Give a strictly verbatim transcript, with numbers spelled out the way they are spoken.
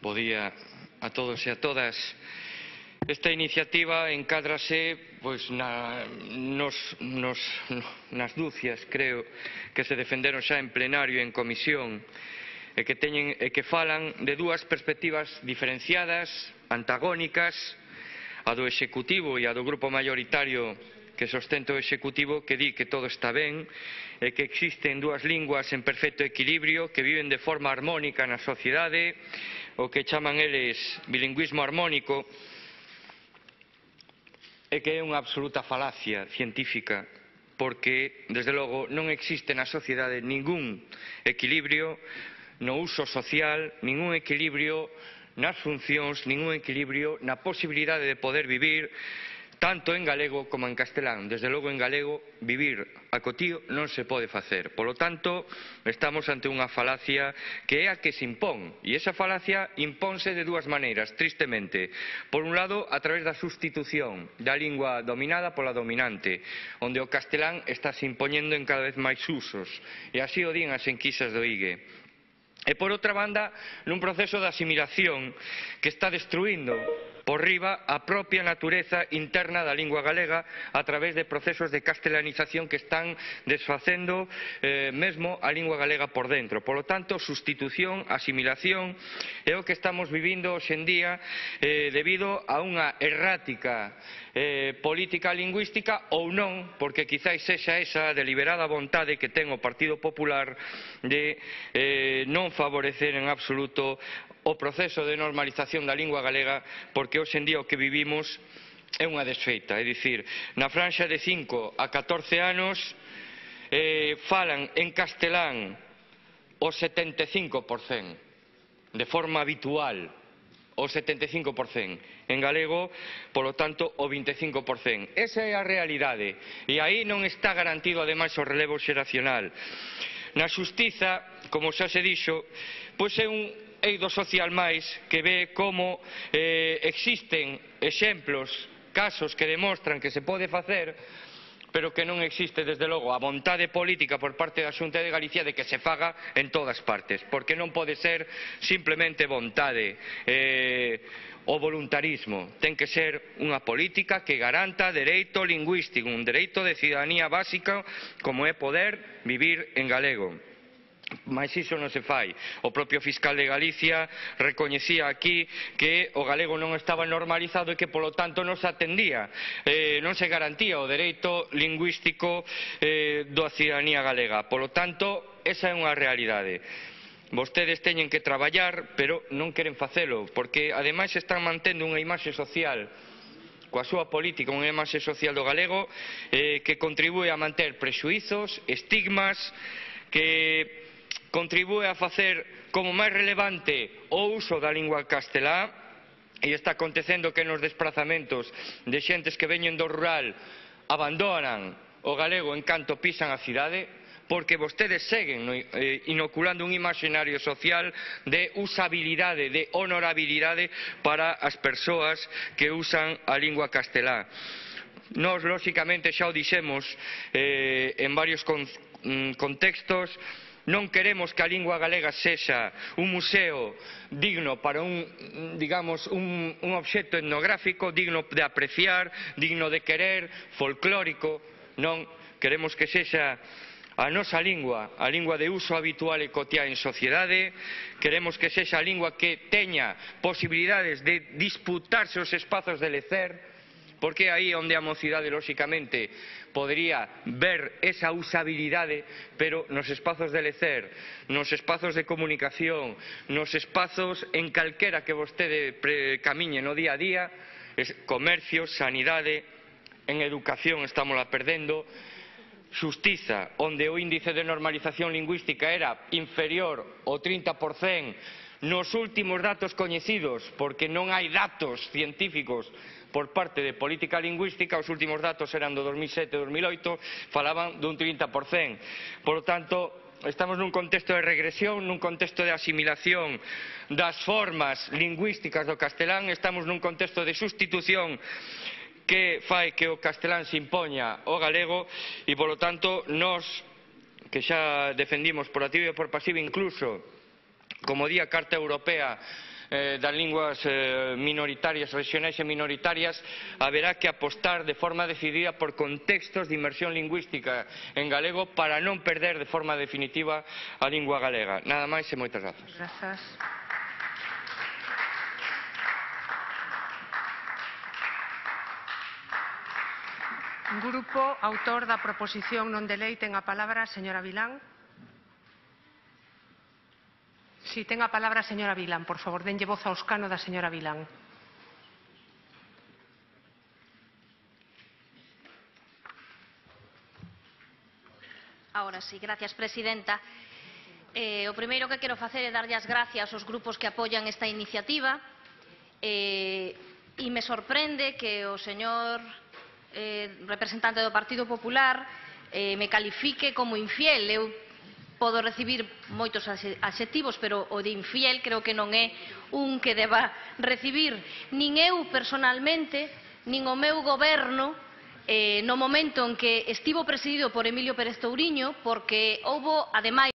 Bo día a todos e a todas. Esta iniciativa encádrase pois, na, nos, nos, nas dúcias, creo, que se defenderon xa en plenario e en comisión e que, teñen, e que falan de dúas perspectivas diferenciadas, antagónicas, a do Executivo e a do grupo maioritario que sostenta o Executivo, que di que todo está ben e que existen dúas linguas en perfecto equilibrio que viven de forma armónica na sociedade, o que chaman eles bilingüismo armónico, e que é unha absoluta falacia científica, porque, desde logo, non existe na sociedade ningún equilibrio no uso social, ningún equilibrio nas funcións, ningún equilibrio na posibilidade de poder vivir tanto en galego como en castelán. Desde logo, en galego, vivir a cotío non se pode facer. Polo tanto, estamos ante unha falacia que é a que se impón. E esa falacia impónse de dúas maneiras, tristemente. Por un lado, a través da sustitución da lingua dominada pola dominante, onde o castelán está se impoñendo en cada vez máis usos. E así o din as enquisas do I G E. E por outra banda, nun proceso de asimilación que está destruindo por riba a propia natureza interna da lingua galega a través de procesos de castelanización que están desfacendo eh, mesmo a lingua galega por dentro. Por lo tanto, sustitución, asimilación é o que estamos vivindo hoxe en día eh, debido a unha errática eh, política lingüística ou non, porque quizáis sexa esa deliberada vontade que ten o Partido Popular de eh, non favorecer en absoluto o proceso de normalización da lingua galega, porque hoxe en día o que vivimos é unha desfeita. É dicir, na franxa de cinco a catorce anos eh, falan en castelán o setenta e cinco por cento, de forma habitual, o setenta e cinco por cento. En galego, polo tanto, o vinte e cinco por cento. Esa é a realidade. E aí non está garantido, ademais, o relevo xeracional. Na xustiza, como xa se dixo, pois é un eido social máis que ve como eh, existen exemplos, casos que demostran que se pode facer, pero que non existe, desde logo, a vontade política por parte da Xunta de Galicia de que se faga en todas partes, porque non pode ser simplemente vontade eh, o voluntarismo. Ten que ser unha política que garanta dereito lingüístico, un dereito de cidadanía básica como é poder vivir en galego. Mas iso non se fai. O propio fiscal de Galicia recoñecía aquí que o galego non estaba normalizado e que, polo tanto, non se atendía, eh, non se garantía o dereito lingüístico eh, da cidadanía galega. Polo tanto, esa é unha realidade. Vostedes teñen que traballar, pero non queren facelo, porque, ademais, están mantendo unha imaxe social coa súa política, unha imaxe social do galego eh, que contribúe a manter prexuízos, estigmas, que contribúe a facer como máis relevante o uso da lingua castelá, e está acontecendo que nos desplazamentos de xentes que veñen do rural abandonan o galego en canto pisan a cidade, porque vostedes seguen eh, inoculando un imaxinario social de usabilidade, de honorabilidade para as persoas que usan a lingua castelá. Nós, lóxicamente, xa o dixemos eh, en varios con, mm, contextos, non queremos que a lingua galega sexa un museo digno para un, digamos, un, un obxecto etnográfico, digno de apreciar, digno de querer, folclórico. Non, queremos que sexa a nosa lingua, a lingua de uso habitual e cotiá en sociedade. Queremos que sexa a lingua que teña posibilidades de disputarse os espazos de lecer, porque aí onde a mocidade, lóxicamente, podría ver esa usabilidade, pero nos espazos de lecer, nos espazos de comunicación, nos espazos en calquera que vostede camiñe no día a día, comercio, sanidade, en educación estamos a perdendo, xustiza, onde o índice de normalización lingüística era inferior ao trinta por cento nos últimos datos coñecidos, porque non hai datos científicos por parte de política lingüística, os últimos datos eran do dos mil sete e dos mil oito, falaban dun trinta por cento. Por lo tanto, estamos nun contexto de regresión, nun contexto de asimilación das formas lingüísticas do castelán, estamos nun contexto de sustitución que fai que o castelán se impoña ao galego e, polo tanto, nós, que xa defendimos por activa e por pasiva, incluso, como di a Carta Europea eh, das linguas eh, minoritarias, regionais e minoritarias, haberá que apostar de forma decidida por contextos de inmersión lingüística en galego para non perder de forma definitiva a lingua galega. Nada máis e moitas grazas. Grazas. Grupo autor da proposición non de lei ten a palabra a señora Vilán. Si, ten a palabra a señora Vilán, por favor, denlle voz ao escano da señora Vilán. Ahora sí, gracias, presidenta. Eh, o primeiro que quero facer é darlle as gracias aos grupos que apoian esta iniciativa eh, e me sorprende que o señor eh, representante do Partido Popular eh, me califique como infiel. Eu podo recibir moitos adxectivos, pero o de infiel creo que non é un que deba recibir nin eu personalmente, nin o meu goberno, eh, no momento en que estivo presidido por Emilio Pérez Touriño, porque houbo, ademais,